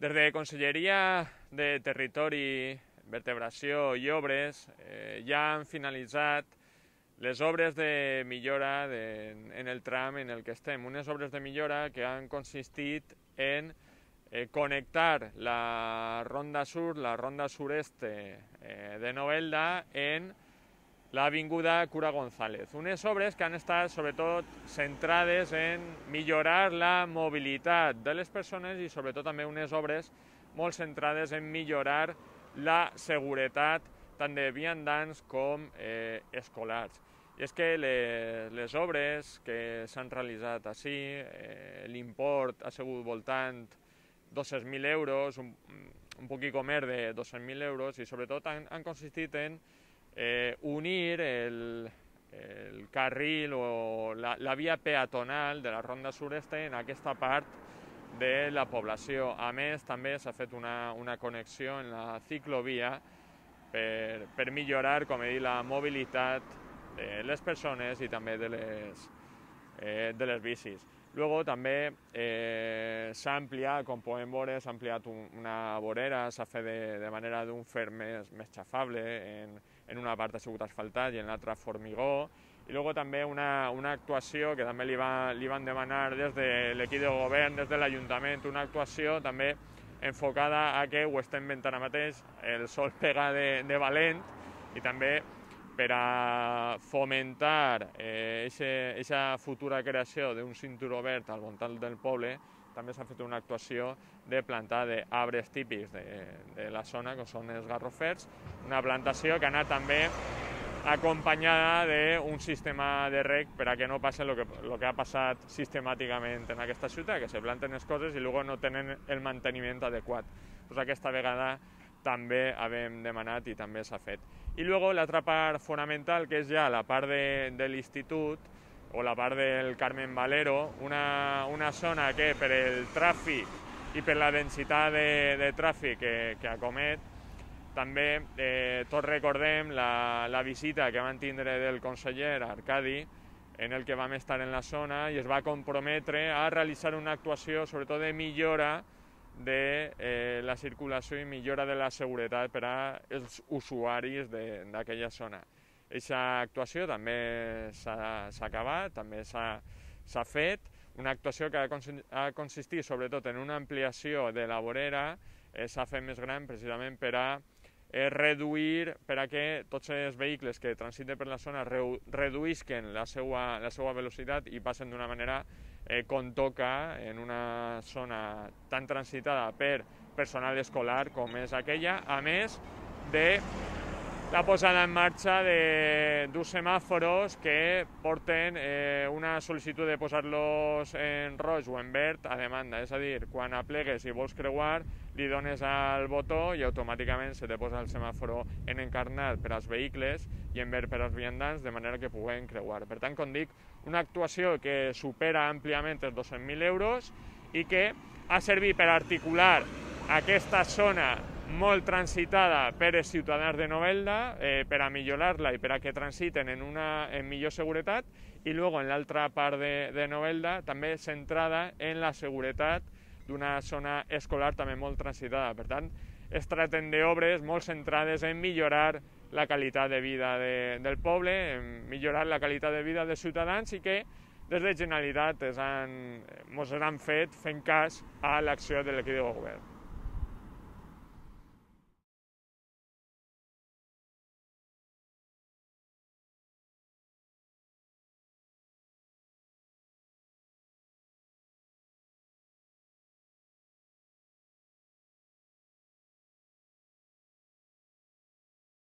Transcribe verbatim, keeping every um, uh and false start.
Des de Conselleria de Territori, Vertebració i Obres eh, ja han finalitzat les obres de millora de, en el tram en el que estem. Unes obres de millora que han consistit en eh, connectar la ronda sur, la ronda sureste eh, de Novelda en l'avinguda Cura González. Unes obres que han estat sobretot centrades en millorar la mobilitat de les persones i sobretot també unes obres molt centrades en millorar la seguretat tant de viandants com eh, escolars. I és que les, les obres que s'han realitzat així, eh, l'import ha sigut voltant dos-cents mil euros, un, un poquet més de dos-cents mil euros, i sobretot han, han consistit en eh, unir el, el carril o la, la via peatonal de la ronda sureste en aquesta part de la població. A més, també s'ha fet una, una connexió en la ciclovia per, per millorar, com he dit, la mobilitat de les persones i també de les, eh, de les bicis. Luego també eh, s'ha ampliat, com podem veure, s'ha ampliat un, una vorera, s'ha fet de, de manera d'un fer més, més xafable, en, en una part ha sigut asfaltat i en l'altra formigó. I luego també una, una actuació que també li, va, li van demanar des de l'equip de govern, des de l'Ajuntament, una actuació també enfocada a que ho estem veient ara mateix, el sol pega de, de valent, i també per a fomentar aquesta eh, futura creació d'un cinturó verd al voltant del poble, també s'ha fet una actuació de plantar d'arbres típics de, de la zona, que són els garrofers, una plantació que ha anat també acompanyada d'un sistema de reg per a que no passi el que, lo que ha passat sistemàticament en aquesta ciutat, que se planten les coses i després no tenen el manteniment adequat. Pues aquesta vegada també havíem demanat i també s'ha fet. I després l'altra part fonamental, que és ja la part de, de l'institut, o la part del Carmen Valero, una, una zona que per el tràfic i per la densitat de, de tràfic que, que acomet, també eh, tots recordem la, la visita que van tindre del conseller Arcadi, en el que vam estar en la zona i es va comprometre a realitzar una actuació sobretot de millora de eh, la circulació i millora de la seguretat per als usuaris d'aquella zona. Aquesta actuació també s'ha acabat, també s'ha fet, una actuació que ha consistit sobretot en una ampliació de la vorera, eh, s'ha fet més gran precisament per a eh, reduir, per a que tots els vehicles que transiten per la zona reduïsquen la seva, la seva velocitat i passen d'una manera Eh, com toca en una zona tan transitada per personal escolar com és aquella, a més de la posada en marxa d'uns semàforos que porten eh, una sol·licitud de posar-los en roig o en verd a demanda, és a dir, quan aplegues i vols creuar, li dones al botó i automàticament se te posa el semàforo en encarnat per als vehicles i en verd per als viandants, de manera que puguen creuar. Per tant, com dic, una actuació que supera àmpliament els dos-cents mil euros i que ha servit per articular aquesta zona molt transitada per als ciutadans de Novelda, eh, per a millorar-la i per a que transiten en una en millor seguretat, i després en l'altra part de, de Novelda també centrada en la seguretat d'una zona escolar també molt transitada. Per tant, es tracten d'obres molt centrades en millorar la qualitat de vida de, del poble, en millorar la qualitat de vida dels ciutadans i que des de Generalitat ens han, ens han fet fent cas a l'acció de l'equip de govern.